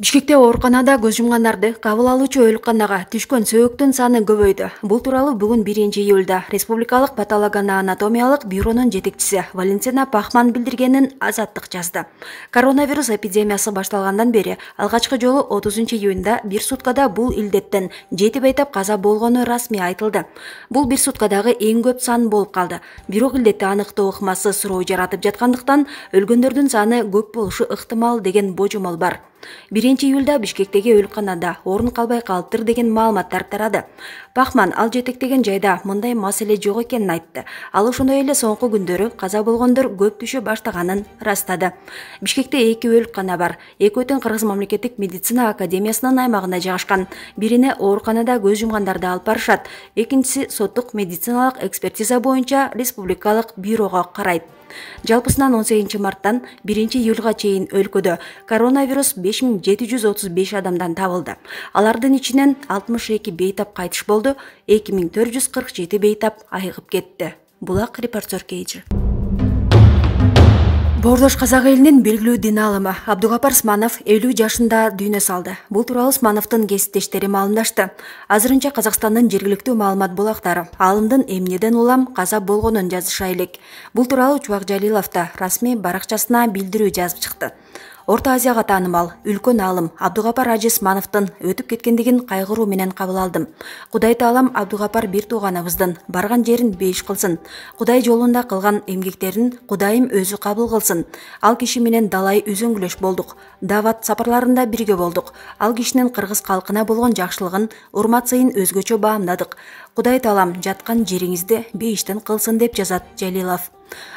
Бишкекте ооруканада көз жумгандарды кабыл алуучу өлканага түшкөн сөөгүктүн саны көбөйдү. Бул тууралуу бүгүн 1-июлда Республикалык патологоанатомиялык бюронун жетекчиси Валентина Пахман билдиргенин Азаттык жазды. Коронавирус эпидемиясы башталгандан бери алгачкы жолу 30-июнда бир суткада бул илдеттен 7 бейтап каза болгону расмий айтылды. Бул бир суткадагы эң көп сан болуп калды. Бирок илдетти аныктоо ыкмасы суроо жаратып жаткандыктан өлгөндөрдүн саны көп болушу ыктымал деген божомол бар. 1-июлда Бишкектеги өлканада орун калбай калыптыр деген маалыматтар тарады. Пахман ал жетектеген жайда мындай маселе жок экенин айтты. Ал ошондой эле соңку күндөрү каза болгондор көп түшө баштаганын ырастады. Бишкекте 2 өлкана бар. Экөөтөн Кыргыз мамлекеттик медицина академиясынын аймагында жайгашкан. Бирине ооруканада көз жумгандарды алып барышат, экинчиси соттук медициналык экспертиза боюнча республикалык бюрого карайт. Жалпысынан 18 марттан 1-июлга чейин өлкөдө коронавирус 5735 адамдан табылды. Алардын ичинен 62 бейтап кайтыш болду, 2447 бейтап айыгып кетти. Булак репортер Кейжи. Боордош казак элинин белгилүү дин аалымы Абдугапар Сманов 50 жашында дүйнө салды. Бул тууралуу Смановдун кесиптештери маалымдашты. Азырынча Казакстандын жергиликтүү маалымат булактары аалымдын эмнеден улам каза болгонун жазыша элек. Бул тууралуу Чубак Жалилов да расмий баракчасына билдирүү жазып чыкты. Орто Азияга таанымал үлкөн аалым Абдугапар Ажи Смановдун өтүп кеткендигин кайгыруу менен кабыл алдым. Кудай таалам Абдугапар бир тууганыбыздын барган жерин бейиш кылсын. Кудай жолунда кылган эмгектерин Кудайым өзү кабыл кылсын. Ал киши менен далай үзөңгүлөш болдук. Дават сапарларында бирге болдук. Ал кишинин кыргыз калкына болгон жакшылыгын, урмат сыйын өзгөчө баамдадык. Кудай таалам жаткан жериңизди бейиштен кылсын деп жазат Жалилов.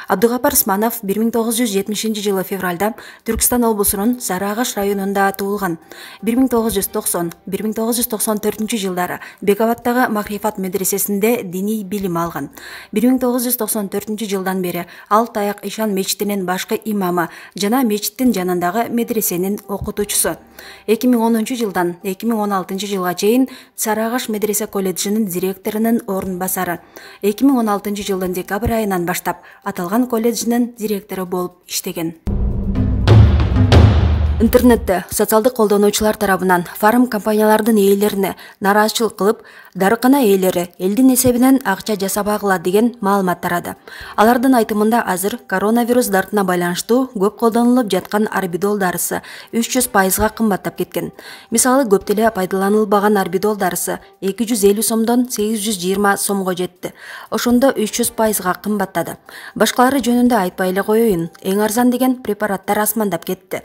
Абдугапар Сманов 1970-жылы февралда Түркстан облусунун Сарыагаш районунда туулган. 1990-1994 жылдары Бекабаттагы Махрифат медресесинде диний билим алган. 1994 жылдан бери ал Таяк Ишан мечитинин башкы имамы жана мечиттин жанындагы медресенин окутуучусу. 2010 жылдан 2016 жылга чейин Сарыагаш медресе колледжинин директорунун орун басары. 2016 жылдын декабрь айынан баштап аталган колледжинин директору болуп иштеген. Интернетте социалдык колдонуучулар тарабынан фарм компаниялардын ээлерине нааразычылык кылып, дарыкана ээлери элдин эсебинен акча жасабагыла деген маалымат тарады. Алардын айтымында азыр коронавирус дартына байланыштуу көп колдонулуп жаткан орбидол дарысы 300%га кымбаттап кеткен. Мисалы, көп деле пайдаланылбаган орбидол дарысы 250 сомдон 820 сомго жетти. Ошондо 300%га кымбаттады. Башкалары жөнүндө айтпай эле коеюн, эң арзан деген препараттар асмандап кетти.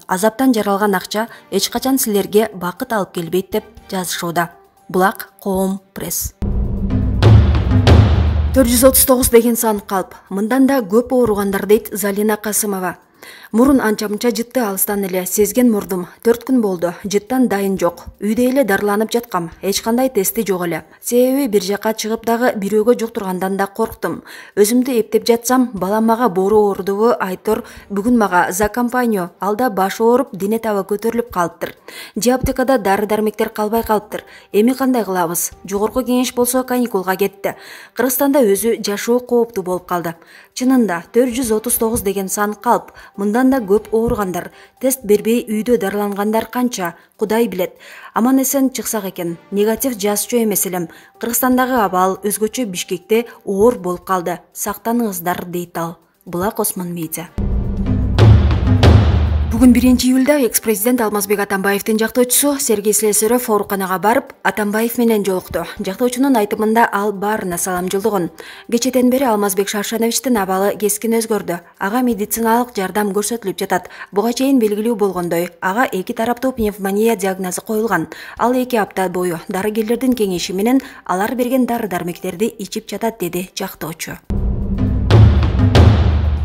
Азаптан жаралган акча эч качан силерге бакыт алып келбейт деп жазышууда. Булак Коом пресс. 439 деген сан калп. Мындан да көп ооругандар дейт Залина Касымова. Мурун анча-мынча жытты алыстан эле сезген мурдум. 4 күн болду. Жыттан дайын жок. Үйдө эле дарыланып жаткам. Эч кандай тести жок эле. Себеби бир жака чыгып дагы бирөөгө жуктургандан да корктум. Өзүмдү эптеп жатсам, балам мага боору оорудубу айтор, бүгүн мага за компанию, алда башы ооруп, дене табы көтөрүлүп калыптыр. Же аптекада дары-дармектер калбай калыптыр. Эми кандай кылабыз? Жогорку кеңеш болсо каникулга кетти. Кыргызстанда өзү жашоо кооптуу болуп калды. Чынында 439 деген сан калп. Мындан да көп ооругандар, тест бербей үйдө дарылангандар канча, Кудай билет. Аман эсен чыксак экен. Негатив жазчу эмес элем. Кыргызстандагы абал өзгөчө Бишкекте оор болуп калды. Сактаныңыздар дейт ал. Булак Осман Медиа. Бүгүн 1-июлда экс-президент Алмазбек Атамбаевдин жактоочусу Сергей Слесарев ооруканага барып, Атамбаев менен жолукту. Жактоочунун айтымында ал баарына салам жолдогон. Кечеден бери Алмазбек Шаршановичтин абалы кескин өзгөрдү. Ага медициналык жардам көрсөтүлүп жатат. Буга чейин белгилүү болгондой, ага 2 тараптуу пневмония диагнозу коюлган. Ал 2 апта бою дарыгерлердин кеңеши менен алар берген дары-дармектерди ичип жатат, деди жактоочу.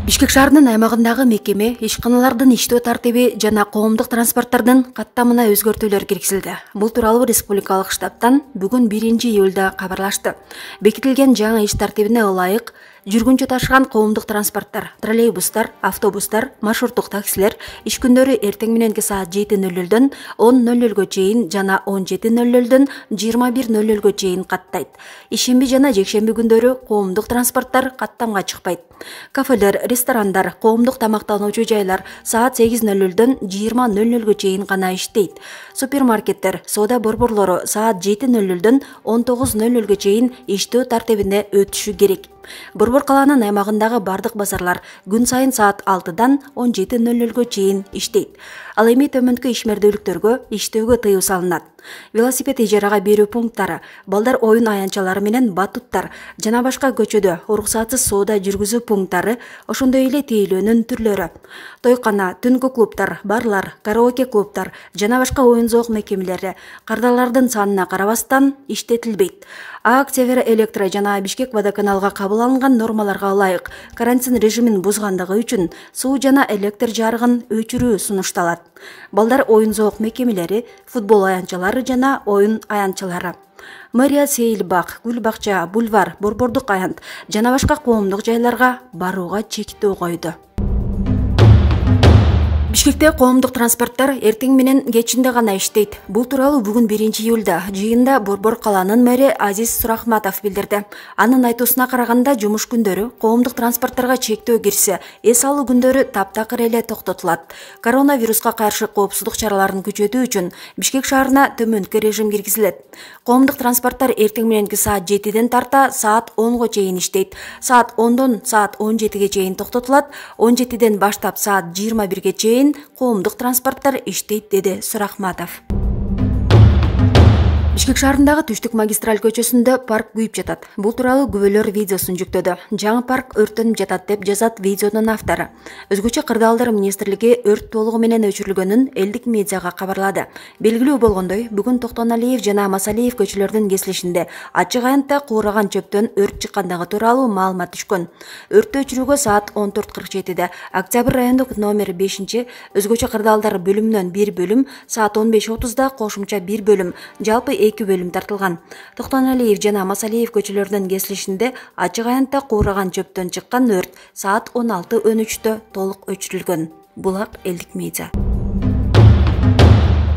Бишкек шаарынын аймагындагы мекеме ишканалардын иштөө тартиби жана коомдук транспорттардын каттамына өзгөртүүлөр киргизилди. Бул тууралуу республикалык штабтан бүгүн 1-июлда кабарлашты. Бекитилген жаңы иш тартибине ылайык Жүргүнчү ташыган коомдук транспорттор, троллейбустар, автобустар, маршруттук таксилер иш күндөрү эртең мененки саат 7:00дөн 10:00 чейин жана 17:00дөн 21:00 чейин каттайт. Ишемби жана жекшемби күндөрү коомдук транспорттор каттамга чыкпайт. Кафелер, ресторандар, коомдук тамактануучу жайлар саат 8:00дөн 20:00 чейин гана иштейт. Супермаркеттер, соода борборлору саат 7:00дөн 19:00 чейин иштөө тартибине өтүшү керек. Борбор калаанын аймагындагы бардык базарлар күн сайын саат 6-дан 17:00 чейин иштейт. Ал эми төмөнкү ишмердүүлүктөргө иштөөгө тыюу салынат. Велосипед ижарага берүү пункттары, балдар оюн аянтчалары менен батуттар жана башка көчөдө уруксатсыз соода жүргүзүү пункттары, ошондой эле тейлөөнүн түрлөрү. Тойкана, түнкү клубтар, барлар, караоке клубтар жана башка оюн-зоок мекемелери кардалардын санына карабастан иштетилбейт. ААК Севера Электро жана Бишкек водоканалга кабыл алынган нормаларга ылайык карантин режимин бузгандыгы үчүн суу жана электр жарыгын өчүрүү сунушталат. Балдар оюн-зоок мекемелери, футбол аянтчалары жана оюн аянтчалары. Мэрия Сейил бак, Гүл бакча, бульвар, борбордук аянт жана башка коомдук жайларга барууга чектөө койду. Бишкекте коомдук транспорттор эртең менен кечинде гана иштейт. Бул тууралуу бүгүн 1-июлда жыйында Борбор калаанын мэри Азиз Сурахматов билдирди. Анын айтуусуна караганда жумуш күндөрү коомдук транспортторго чектөө кирсе, эс алуу күндөрү таптакыр эле токтотулат. Коронавируска каршы коопсуздук чараларын күчөтүү үчүн Бишкек шаарына төмөнкү режим киргизилет. Коомдук транспорттор эртең мененки саат 7-ден тарта саат 10го чейин иштейт. Саат 10дон саат 17ге чейин токтотулат. 17ден баштап саат 21ге чейин коомдук транспорттор иштейт, деди Сурахматов. Бишкек шаарындагы Түштүк магистраль көчөсүндө парк күйүп жатат. Бул тууралуу күбөлөр видеосун жүктөдү. Жаңы парк өрттөнүп жатат деп жазат видеонун автору. Өзгөчө Кырдаалдар министрлиги өрт толугу менен өчүрүлгөнүн элдик медиага кабарлады. Белгилүү болгондой, бүгүн Токтоналиев жана Масалиев көчөлөрдүн кесилишинде ачык аянтта куураган чөптөн өрт чыккандыгы тууралуу маалымат түшкөн. Өрттү өчүрүүгө саат 14:47 Октябрь райондук номер 5 өзгөчө Кырдаалдар бөлүмүнөн 1 бөлүм, саат 15:30 кошумча 1 бөлүм, жалпы 2 бөлүм тартылган. Токтоналиев жана Масалиев көчөлөрүнүн кесилишинде ачык аянтта куураган чөптөн чыккан өрт саат 16:13 толук өчүрүлгөн. Булак элдик медиа.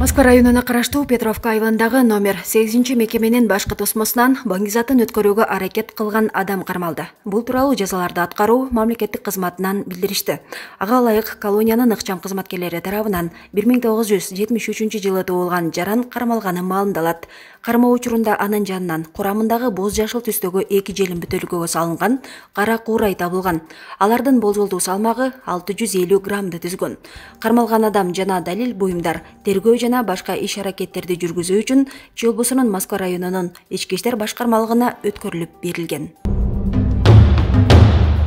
Москва районуна караштуу Петровка айылындагы номер 8 мекеменин башкы тосмосунан баңгизатын өткөрүүгө аракет кылган адам кармалды. Бул тууралуу жазаларды аткаруу мамлекеттик кызматынан билдиришти. Ага ылайык колониянын ыкчам кызматкерлери тарабынан 1973-жылы туулган жаран кармалганы маалымдалат. Кармоо учурунда анын жанынан курамындагы боз жашыл түстөгү 2 желим бүтөлгөгө салынган кара куурай табылган. Алардын болжолдуу салмагы 650 граммды түзгөн. Кармалган адам жана далил буюмдар тергөө жана башка иш аракеттерди жүргүзүү үчүн Чолбусунун Москва районунун ички иштер башкармалыгына өткөрүлүп берилген.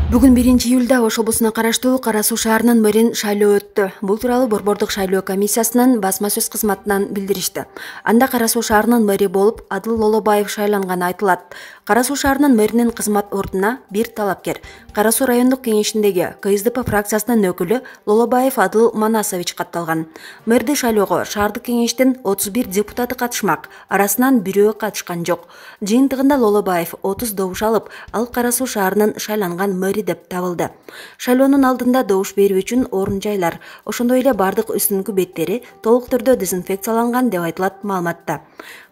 Бүгүн 1-июлда Ош облусуна караштуу Кара Суу шаарынын мэрин шайлоо өттү. Бул тууралуу борбордук шайлоо комиссиясынын басма сөз кызматынан билдиришти. Анда Кара Суу шаарынын мэри болуп Адыл Лолобаев шайланганы айтылат. Кара Суу шаарынын мэринин кызмат ордуна бир талапкер Кара Суу райондук кеңешиндеги КСДП фракциясынын өкүлү Лолобаев Адыл Манасович катталган. Мэрди шайлоого шаардык кеңештин 31 депутаты катышмак, арасынан бирөө катышкан жок. Жыйынтыгында Лолобаев 30 добуш алып, ал Кара Суу шаарынын шайланган мэри деп табылды. Шайлоонун алдында добуш берүү үчүн орун жайлар, ошондой эле бардык үстүнкү беттери толук түрдө дезинфекцияланган деп айтылат маалыматта.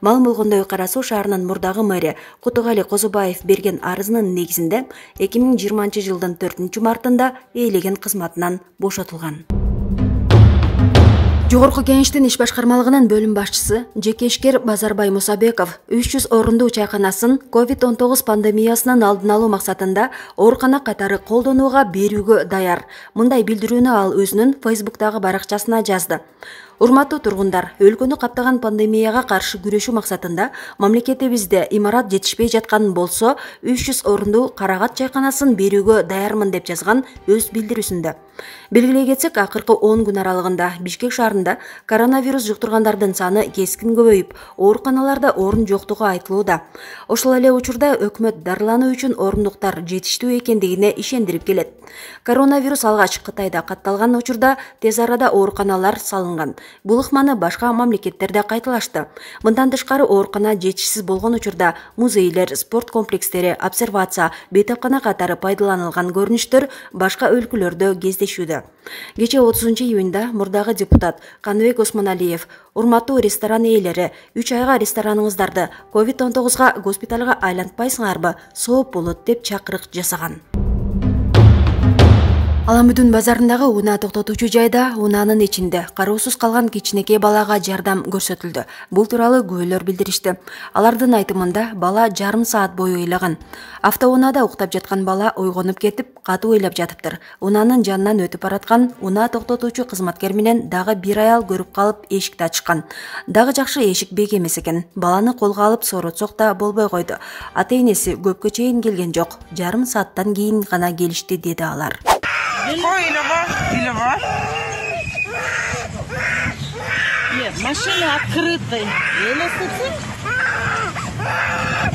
Маалым болгондой, Кара Суу шаарынын мурдагы мэри Кутугали Козубаев берген арызынын негизинде 2020-жылдын 4-мартында ээлеген кызматынан бошотулган. Жогорку кеңештин иш башкармалыгынын бөлүм башчысы жеке ишкер Базарбай Мусабеков 300 орундуу чайканасын COVID-19 пандемиясынын алдын алуу максатында оорукана катары колдонууга берүүгө даяр. Мындай билдирүүнү ал өзүнүн Facebook'тагы баракчасына жазды. Урматтуу тургундар, өлкөнү каптаган пандемияга каршы күрөшүү максатында мамлекетибизде имарат жетишпей жаткан болсо 300 орундуу Карагат чайканасын берүүгө даярмын деп жазган өз билдирүүсүндө. Белгилей кетсек, акыркы 10 күн аралыгында Бишкек шаарында коронавирус жуктургандардын саны кескин көбөйүп, ооруканаларда орун жоктугу айтылууда. Ошол эле учурда өкмөт дарылануу үчүн орундуктар жетиштүү экендигине ишендирип келет. Коронавирус алгач Кытайда катталган учурда тез арада ооруканалар салынган. Бул ыкманы башка мамлекеттерде кайталашты. Мындан тышкары оорукана жетишсиз болгон учурда музейлер, спорт комплекстери, обсервация, бейтапкана катары пайдаланылган көрүнүштөр башка өлкөлөрдө кездешүүдө. Кечээ 30-июнда мурдагы депутат Каныбек Осмоналиев: урматтуу ресторан ээлери, 3 айга рестораныңыздарды COVID-19 госпиталга айлантпайсыңарбы, сооп болот деп чакырык жасаган. Аламүдүн базарындагы унаа токтотуучу жайда унаанын ичинде кароосуз калган кичинекей балага жардам көрсөтүлдү. Бул тууралуу күбөлөр билдиришти. Алардын айтымында бала жарым саат бою ыйлаган. Автоунаада уктап жаткан бала ойгонуп кетип, катуу ыйлап жатыптыр. Унаанын жанынан өтүп бараткан унаа токтотуучу кызматкер менен дагы бир аял көрүп калып эшикти ачышкан. Дагы жакшы эшик бек эмес экен. Баланы колго алып сооротсок да болбой койду. Ата-энеси көпкө чейин келген жок. Жарым сааттан кийин гана келишти, деди алар. Нет, машина открытая. Еле слышишь?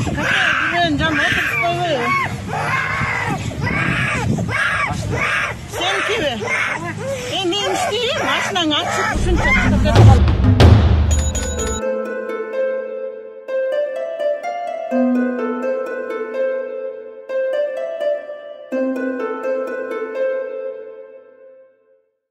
Какая жан отыр Сен кебе? Не істейін? Машинаң ашып, ушунча